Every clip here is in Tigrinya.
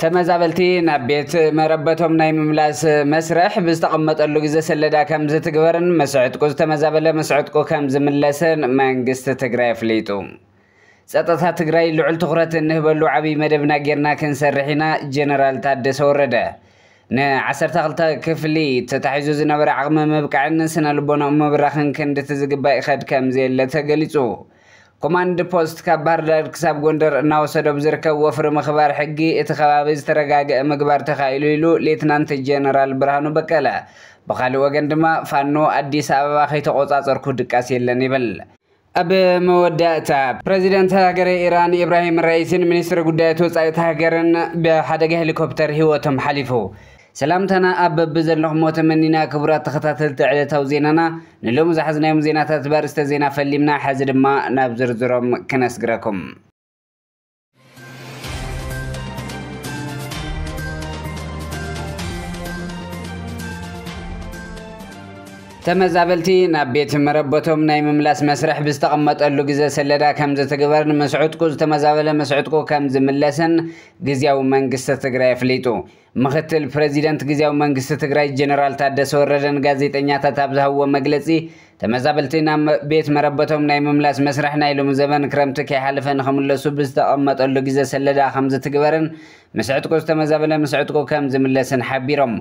ተመዛበልቲ ናብ ቤት መረበቶም ናይ ምምላስ መስርሕ ብዝተቐመጠሉ ግዜ ሰለዳ ከም ዝትግበርን ምስ ዕጥቁ ዝተመዛበለ ምስ ዕጥቁ ከም ዝምለስን መንግስቲ ትግራይ ኣፍሊጡ። ጸጥታ ትግራይ ልዑል ትኹረት እንህበሉ ዓብዪ መደብና ጌርና ክንሰርሕ ኢና፣ ጀነራል ታደሰ ወረደ። ን12 ክፍሊ ተታሒዙ ዝነበረ ዓቕሚ ምብቃዕን ስነ ልቦናኡ ምብራኽን ክንድቲ ዝግባእ ይኸድ ከም ዘየለ ተገሊጹ። ኮማንድ ፖስት ካብ ባህር ዳር ክሳብ ጎንደር እናወሰዶ ብዝርከብ ወፍሪ ምኽባር ሕጊ እቲ ከባቢ ዝተረጋገአ ምግባር ተኻኢሉ ኢሉ ሌትናንት ጀነራል ብርሃኑ በቀለ። ብኻልእ ወገን ድማ ፋኖ ኣዲስ ኣበባ ከይተቆጻጸርኩ ድቃስ የለን ይብል። ኣብ መወዳእታ ፕሬዚደንት ሃገረ ኢራን ኢብራሂም ራኢሲን ሚኒስትሪ ጉዳያት ወጻኢ እታ ሃገርን ብሓደጋ ሄሊኮፕተር ህይወቶም ሓሊፉ። ሰላምታና ኣብ በብዘለኹሞ ተመኒና። ክቡራት ተኸታተልቲ ዕለታዊ ዜናና፣ ንሎሚ ዝሓዝናዮም ዜናታት ብኣርእስተ ዜና ፈሊምና፣ ሕዚ ድማ ናብ ዝርዝሮም ክነስግረኩም። ተመዛበልቲ ናብ ቤት መረበቶም ናይ ምምላስ መስርሕ ብዝተቐመጠሉ ግዜ ሰለዳ ከም ዝትግበርን ምስ ዕጥቁ ዝተመዛበለ ምስ ዕጥቁ ከም ዝምለስን ግዝያዊ መንግስቲ ትግራይ ኣፍሊጡ። ምክትል ፕሬዚደንት ግዝያዊ መንግስቲ ትግራይ ጀነራል ታደሰ ወረደ ንጋዜጠኛታት ኣብ ዝሃብዎ መግለጺ፣ ተመዛበልቲ ናብ መ-፣ ቤት መረበቶም ናይ ምምላስ መስርሕ ናይ ሎሚ ዘበን ክረምቲ ከይሓለፈ ንኽምለሱ ብዝተቐመጠሉ ግዜ ሰለዳ ከም ዝትግበርን ምስ ዕጥቁ ዝተመዛበለ ምስ ዕጥቁ ከም ዝምለስን ሓቢሮም።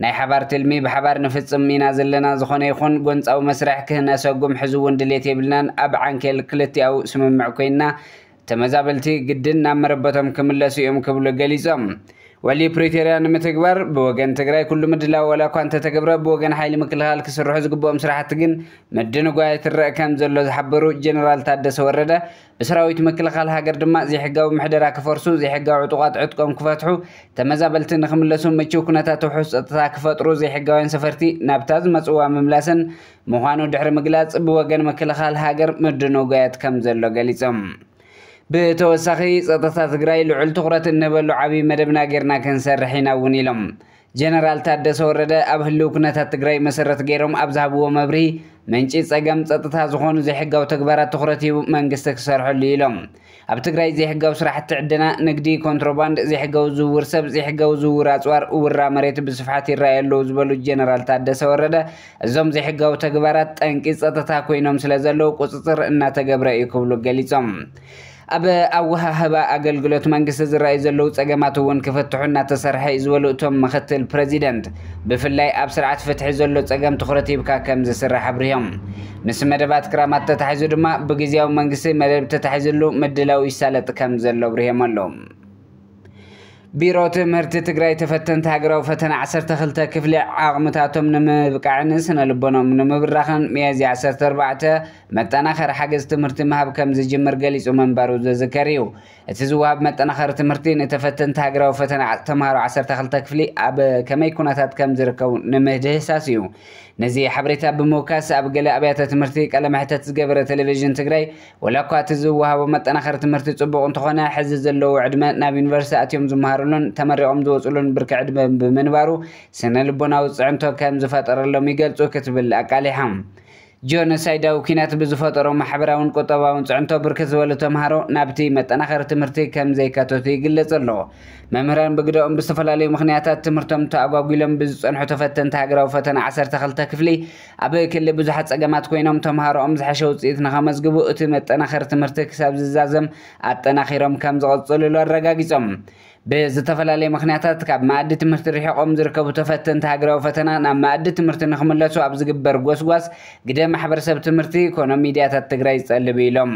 ናይ ሓባር ትልሚ ብሓባር ንፍጽም ኢና ዘለና፣ ዝኾነ ይኹን ጎንጻዊ መስርሕ ክነሰጉም ሕዚ እውን ድሌት የብልናን፣ ኣብ ዓንኬል ክልቲኣዊ ስምምዕ ኮይንና ተመዛበልቲ ግድን ናብ መረበቶም ክምለሱ እዮም ክብሉ ገሊጾም። ውዕሊ ፕሪቶርያ ንምትግባር ብወገን ትግራይ ኩሉ ምድላው ዋላ እኳ እንተተገብረ ብወገን ሓይሊ ምክልኻል ክስርሑ ዝግብኦም ስራሕቲ ግን ምድንጓይ ትረአ ከም ዘሎ ዝሓበሩ ጀነራል ታደሰ ወረደ፣ ብሰራዊት ምክልኻል ሃገር ድማ ዘይሕጋዊ ምሕደራ ክፈርሱ፣ ዘይሕጋዊ ዕጡቓት ዕጥቆም ክፈትሑ፣ ተመዛበልቲ ንክምለሱ ምችው ኩነታት ውሑስ ጸጥታ ክፈጥሩ፣ ዘይሕጋውያን ሰፈርቲ ናብታ ዝመጽዋ ምምላስን ምዃኑ ድሕሪ ምግላጽ፣ ብወገን ምክልኻል ሃገር ምድንጓያት ከም ዘሎ ገሊጾም። ብተወሳኺ፣ ጸጥታ ትግራይ ልዑል ትኹረት እንህበሉ ዓብዪ መደብና ጌርና ክንሰርሕ ኢና እውን ኢሎም። ጀነራል ታደሰ ወረደ ኣብ ህልው ኩነታት ትግራይ መሰረት ገይሮም ኣብ ዝሃብዎ መብርሂ፣ ምንጪ ጸገም ጸጥታ ዝኾኑ ዘይሕጋዊ ተግባራት ትኹረት ሂቡ መንግስቲ ክሰርሐሉ ኢሎም። ኣብ ትግራይ ዘይሕጋዊ ስራሕቲ ዕደና፣ ንግዲ፣ ኮንትሮባንድ፣ ዘይሕጋዊ ዝውውር ሰብ፣ ዘይሕጋዊ ዝውውር ኣጽዋር፣ ውራ መሬት ብስፍሓት ይረኣዩ ኣለዉ ዝበሉ ጀነራል ታደሰ ወረደ፣ እዞም ዘይሕጋዊ ተግባራት ጠንቂ ጸጥታ ኮይኖም ስለ ዘለዉ ቁጽጽር እናተገብረ እዩ ክብሉ ገሊጾም። ኣብ ኣወሃህባ ኣገልግሎት መንግስቲ ዝረኣዩ ዘለዉ ጸገማት እውን ክፍትሑ እናተሰርሐ እዩ ዝበሉ እቶም ምክትል ፕሬዚደንት፣ ብፍላይ ኣብ ስርዓት ፍትሒ ዘሎ ጸገም ትኹረት ሂብካ ከም ዝስራሕ ኣብሪሆም። ምስ መደባት ክራማት ተታሒዙ ድማ ብግዝያዊ መንግስቲ መደብ ተታሒዝሉ ምድላው ይሳለጥ ከም ዘሎ ኣብሪሆም ኣለዉ። ቢሮ ትምህርቲ ትግራይ ተፈተንቲ ሃገራዊ ፈተና ዓሰርተ ክልተ ክፍሊ ዓቕምታቶም ንምብቃዕን ስነ ልቦኖም ንምብራኽን ሚያዝያ ዓሰርተ ኣርባዕተ መጠናኸሪ ሓገዝ ትምህርቲ ምሃብ ከም ዝጅምር ገሊጹ ምንባሩ ዝዝከር እዩ። እቲ ዝወሃብ መጠናኸሪ ትምህርቲ ንተፈተንቲ ሃገራዊ ፈተና ዓ-፣ ተምሃሮ ዓሰርተ ክልተ ክፍሊ ኣብ ከመይ ኩነታት ከም ዝርከቡ ንምህድህሳስ እዩ። ነዚ ሓበሬታ ብምውካስ ኣብ ገለ ኣብያተ ትምህርቲ ቃለ መሕተት ዝገበረ ቴሌቪዥን ትግራይ፣ ወላ እኳ እቲ ዝወሃቦ መጠናኸሪ ትምህርቲ ጽቡቕ እንተኾነ፣ ሕዚ ዘለዉ ዕድመ ናብ ዩኒቨርሲቲ ኣትዮም ዝመሃሩሉን ተመሪቖም ዝወፅሉን ብርኪ ዕድመ ብምንባሩ ስነ ልቦናዊ ፅዕንቶ ከም ዝፈጠረሎም ይገልጹ ክትብል ኣቃሊሓ። ጆኖሳይዳዊ ኲናት ብዝፈጠሮ ማሕበራውን ቁጠባውን ፅዕንቶ ብርክት ዝበሉ ተምሃሮ ናብቲ መጠናኸሪ ትምህርቲ ከም ዘይካተቱ ይግለጽ ኣሎ። መምህራን ብግደኦም ብዝተፈላለዩ ምኽንያታት ትምህርቶም ተኣጓጒሎም ብዝጸንሑ ተፈተንቲ ሃገራዊ ፈተና ዓሰርተ ክልተ ክፍሊ ኣብ ክሊ ብዙሓት ጸገማት ኮይኖም ተምሃሮኦም ዝሓሸ ውጽኢት ንኸመዝግቡ እቲ መጠናኸሪ ትምህርቲ ክሳብ ዝዛዘም ኣጠናኺሮም ከም ዝቐጽልሉ ኣረጋጊጾም። ብዝተፈላለየ ምኽንያታት ካብ መኣዲ ትምህርቲ ርሒቖም ዝርከቡ ተፈተንቲ ሃገራዊ ፈተና ናብ መኣዲ ትምህርቲ ንኽምለሱ ኣብ ዝግበር ጎስጓስ ግደ ማሕበረሰብ ትምህርቲ ኮነ ሚድያታት ትግራይ ይጸልብ ኢሎም።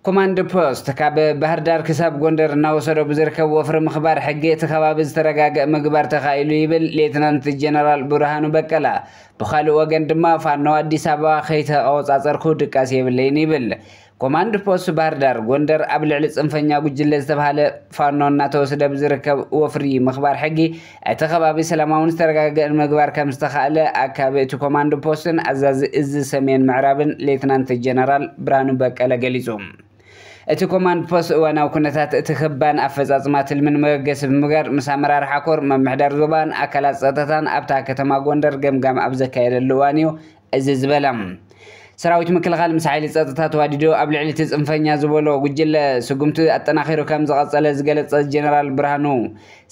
ኮማንድ ፖስት ካብ ባህር ዳር ክሳብ ጎንደር እናወሰዶ ብዝርከብ ወፍሪ ምኽባር ሕጊ እቲ ከባቢ ዝተረጋገእ ምግባር ተኻኢሉ ይብል ሌትናንት ጀነራል ብርሃኑ በቀለ። ብኻልእ ወገን ድማ ፋኖ ኣዲስ ኣበባ ከይተቆጻጸርኩ ድቃስ የብለይን ይብል። ኮማንድ ፖስት ባህር ዳር ጎንደር ኣብ ልዕሊ ጽንፈኛ ጉጅለ ዝተባህለ ፋኖ እናተወሰደ ብዝርከብ ወፍሪ ምኽባር ሕጊ እቲ ከባቢ ሰላማውን ዝተረጋገአን ምግባር ከም ዝተኻእለ ኣካቢ እቲ ኮማንድ ፖስትን ኣዛዚ እዚ ሰሜን ምዕራብን ሌትናንት ጀነራል ብርሃኑ በቀለ ገሊጹ። እቲ ኮማንድ ፖስት እዋናዊ ኩነታት እቲ ክባን ኣፈጻጽማ ትልምን መበገሲ ብምግባር ምስ ኣመራርሓ ኮር ምምሕዳር ዞባን ኣካላት ጸጥታን ኣብታ ከተማ ጎንደር ገምጋም ኣብ ዘካየደሉ እዋን እዩ እዚ ዝበለ። ሰራዊት ምክልኻል ምስ ሓይሊ ጸጥታ ተዋዲዶ ኣብ ልዕሊ እቲ ጽንፈኛ ዝበሎ ጉጅለ ስጉምቲ ኣጠናኺሩ ከም ዝቐጸለ ዝገለጸ ጀነራል ብርሃኑ፣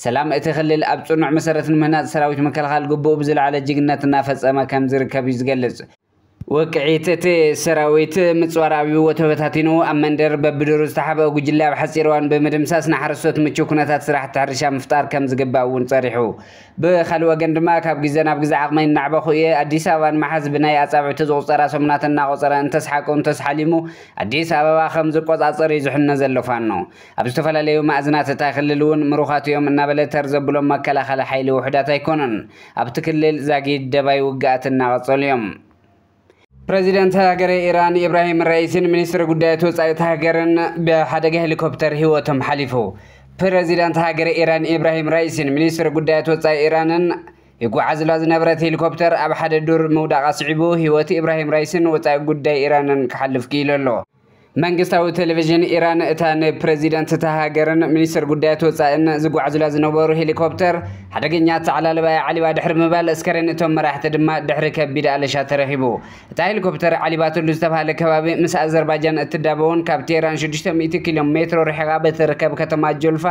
ሰላም እቲ ክልል ኣብ ጽኑዕ መሰረት ንምህናጽ ሰራዊት ምክልኻል ግቡእ ብዝለዓለ ጅግነት እናፈጸመ ከም ዝርከብ እዩ ዝገልጽ። ውቅዒት እቲ ሰራዊት ምጽዋር ኣብይዎ ተበታቲኑ ኣብ መንደር በብዱሩ ዝተሓብአ ጉጅለ ኣብ ሓጺር እዋን ብምድምሳስ ንሓረስቶት ምቹው ኩነታት ስራሕቲ ሕርሻ ምፍጣር ከም ዝግባእ እውን ጸሪሑ። ብኻልእ ወገን ድማ ካብ ግዜ ናብ ግዜ ዓቕመይ እናዕበኹ እየ፣ ኣዲስ ኣበባ ንምሓዝ ብናይ ኣጻብዕቲ ዝቑጸራ ሰሙናት እናቖጸረ እንተስሓቁ እንተስሓሊሙ ኣዲስ ኣበባ ከም ዝቆጻጸር እዩ ዝሕነ ዘሎ ፋኖ። ኣብ ዝተፈላለዩ ማእዝናት እታ ክልል እውን ምሩኻት እዮም እናበለ ተር ዘብሎም መከላኸሊ ሓይሊ ውሑዳት ኣይኮኑን። ኣብቲ ክልል ዛጊድ ደባይ ውግኣት እናቐጸሉ እዮም። ፕረዚደንት ሃገረ ኢራን ኢብራሂም ራኢሲን ሚኒስትሪ ጉዳያት ወጻኢ እታ ሃገርን ብሓደጋ ሄሊኮፕተር ህይወቶም ሓሊፉ። ፕረዚዳንት ሃገረ ኢራን ኢብራሂም ራኢሲን ሚኒስትሪ ጉዳያት ወጻኢ ኢራንን ይጓዓዝላ ዝነበረት ሄሊኮፕተር ኣብ ሓደ ዱር ምውዳቓ ስዒቡ ህይወት ኢብራሂም ራኢሲን ወጻኢ ጉዳይ ኢራንን ክሓልፍ ክኢሉ ኣሎ። መንግስታዊ ቴሌቪዥን ኢራን እታ ንፕረዚደንት እታ ሃገርን ሚኒስትር ጉዳያት ወጻእን ዝጓዓዙላ ዝነበሩ ሄሊኮፕተር ሓደገኛ ኣተዓላልባ እያ ዓሊባ ድሕሪ ምባል፣ ኣስከሬን እቶም መራሕቲ ድማ ድሕሪ ከቢድ ኣለሻ ተረኺቡ። እታ ሄሊኮፕተር ዓሊባትሉ ዝተባህለ ከባቢ ምስ ኣዘርባጃን እትዳበውን ካብ ቴህራን ሽዱሽተ ሚእቲ ኪሎ ሜትሮ ርሒቓ በትርከብ ከተማ ጆልፋ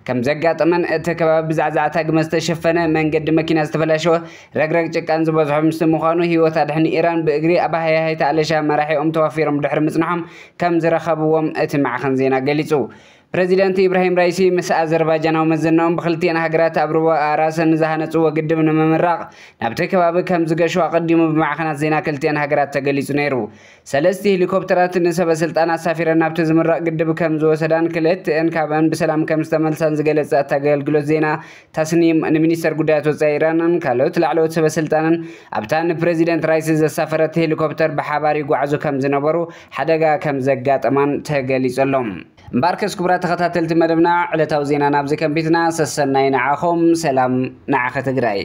ከም ዘጋጠመን እቲ ከባቢ ብዛዕዛዕታ ግመ ዝተሸፈነ መንገዲ መኪና ዝተበላሸወ ረግረግ ጭቃን ዝበዝሖ ምስቲ ምዃኑ ህይወት ኣድሕን ኢራን ብእግሪ ኣብ ሃያሃይቲ ኣለሻ መራሒኦም ተዋፊሮም ድሕሪ ምጽንሖም ከም ዝረኸብዎም እቲ ማዕኸን ዜና ገሊጹ። ፕረዚደንት ኢብራሂም ራይሲ ምስ ኣዘርባጃናዊ መዘናኦም ብክልቲአን ሃገራት ኣብ ሩባ ኣራሰን ዝሃነጽዎ ግድብ ንምምራቕ ናብቲ ከባቢ ከም ዝገሹ ኣቐዲሙ ብማዕኸናት ዜና ክልቲአን ሃገራት ተገሊጹ ነይሩ። ሰለስቲ ሄሊኮፕተራት ንሰበ ስልጣን ኣሳፊረን ናብቲ ዝምረቕ ግድብ ከም ዝወሰዳን ክልቲአን ካብአን ብሰላም ከም ዝተመልሳን ዝገለጸ እቲ ኣገልግሎት ዜና ታስኒም ንሚኒስተር ጉዳያት ወጻኢ ኢራንን ካልኦት ላዕለዎት ሰበ ስልጣንን ኣብታ ንፕረዚደንት ራይሲ ዘሳፈረት ሄሊኮፕተር ብሓባር ይጓዓዙ ከም ዝነበሩ ሓደጋ ከም ዘጋጠማን ተገሊጹ ኣሎ። እምበኣርከስ ክቡራት ተኸታተልቲ መደብና ዕለታዊ ዜና ናብዚ ከንቢትና ሰሰናይ ንዓኹም፣ ሰላም ንዓኸ ትግራይ።